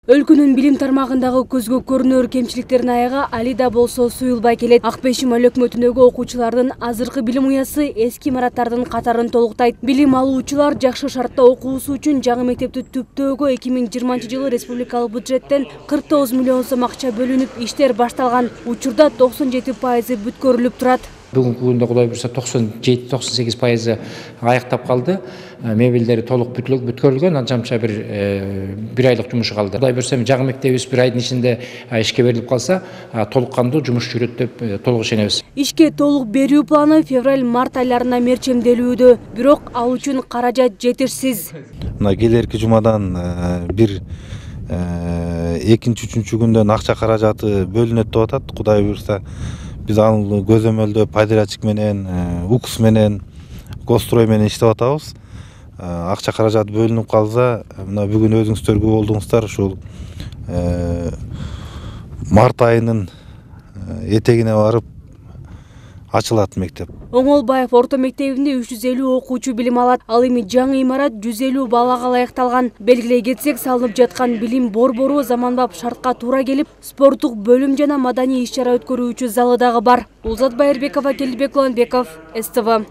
Өлкөнүн билим тармагындагы көзгө көрүнөр кемчиликтердин аягы али да болсо суюлбай келет. Ак Бешим өлөкмөтүндөгү окуучулардын азыркы билим уясы эски имараттардын катарын толуктайт. Билим алуучулар жакшы шартта окуусу үчүн жаңы мектепти түптөөгө 2020-жылы республикалык бюджеттен 49 миллион сом акча бөлүнүп, иштер башталган. Учурда 97% бүткөрүлүп турат. Бүгүнкү күндө Кудай буйрса 97-98% аяктап калды. Мебелдери толук бүткөрүлгөн, анчамча бир айлык жумушу калды. Кудай буйрса жаңы мектебибиз бир айдын ичинде ишке берилип калса, толук кандуу жумуш жүрөт деп толук ишенебиз. Ишке толук берүү планы февраль-март айларына мерчемделүүдө, бирок ал үчүн каражат жетишсиз. Мына келерки жумадан бир экинчи-үчүнчү күндөн акча каражаты бөлүнөт деп атат. Кудай буйрса биз аны көзөмөлдөө подрядчик менен, УКС менен, Госстрой менен иштеп атабыз. Акча каражаты бөлүнүп калса, мына бүгүн өзүңүздөр күбө болдуңуздар, ушул март айынын этегине барып ачылат мектеп. Оңолбаев орто мектебинде 350 окуучу билим алат. Ал эми жаңы имарат 150 балага ылайыкталган. Белгилей кетсек, салынып жаткан билим борбору заманбап шартка туура келип, спорттук бөлүм жана маданий иш-чара өткөрүүчү залы дагы бар. Улзат Байырбекова, Келдибек Уланбеков, СТВ.